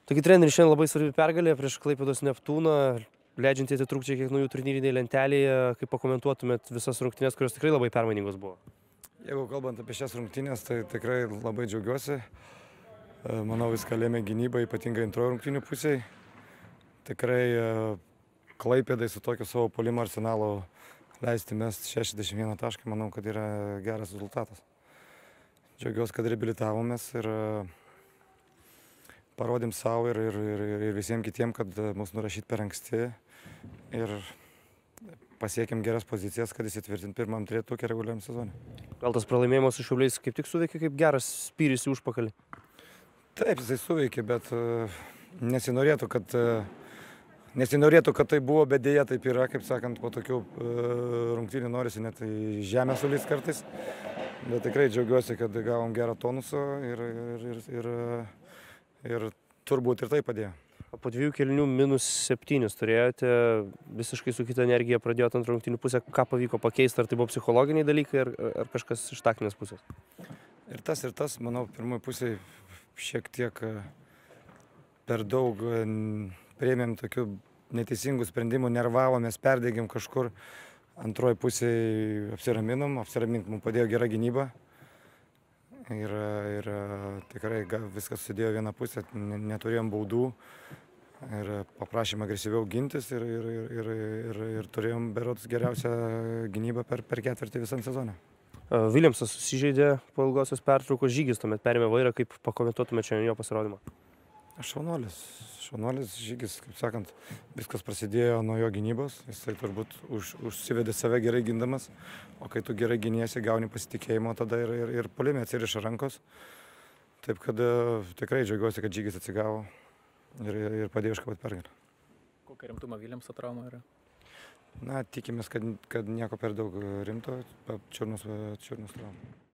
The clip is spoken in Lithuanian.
Taigi treneris šiandien labai svarbi pergalė prieš Klaipėdos Neptūną, leidžiantį atitrūkti kiek nuo jų turnyrinėje lentelėje. Kaip pakomentuotumėt visas rungtynes, kurios tikrai labai permainingos buvo? Jeigu kalbant apie šias rungtynės, tai tikrai labai džiaugiuosi. Manau, viską lėmė gynyba, ypatingai antrojo rungtynių pusėje. Tikrai Klaipėdai su tokiu savo puolimo arsenalu leisti mest 61 tašką, manau, kad yra geras rezultatas. Džiaugiuosi, kad reabilitavomės ir parodėm savo ir visiems kitiems, kad mus nurašyti per anksti ir pasiekėm geras pozicijas, kad įsitvirtint pirmam trejetuke reguliariam sezone. Gal tas pralaimėjimas su Šiauliais kaip tik suveikė kaip geras spyris į užpakalį? Taip, jisai suveikė, bet nesinorėtų, kad tai buvo, bet dėja taip yra, kaip sakant, po tokių rungtynių norisi net į žemę sulįst kartais. Bet tikrai džiaugiuosi, kad gavom gerą tonusą ir turbūt ir tai padėjo. Po 2 kėlinių -7 turėjote, visiškai su kita energija pradėjote antrą rungtynių pusę. Ką pavyko pakeisti, ar tai buvo psichologiniai dalykai, ar kažkas iš taktinės pusės? Ir tas, manau, pirmoji pusė šiek tiek per daug priėmėm tokių neteisingų sprendimų, nervavomės, perdegėm kažkur. Antroji pusėje apsiramint mums padėjo gera gynyba. Ir tikrai viskas susidėjo vieną pusę, neturėjom baudų ir paprašėm agresyviau gintis ir turėjom berods geriausią gynybą per ketvirtį visam sezone. Viljamsas susižeidė po ilgosios pertraukos, Žygis tuomet perėmė vairą, kaip pakomentuotumėte šiandien jo pasirodymą? Šaunuolis Žygis, kaip sakant, viskas prasidėjo nuo jo gynybos, jisai turbūt užsivedė save gerai gindamas, o kai tu gerai giniesi, gauni pasitikėjimo, tada ir puolime atsiriša rankos. Taip kad tikrai džiaugiuosi, kad Žygis atsigavo ir padėjo iškovoti pergalę. Kokia rimtumo Viljamso trauma yra? Na, tikimės, kad nieko per daug rimto, čiurnos trauma.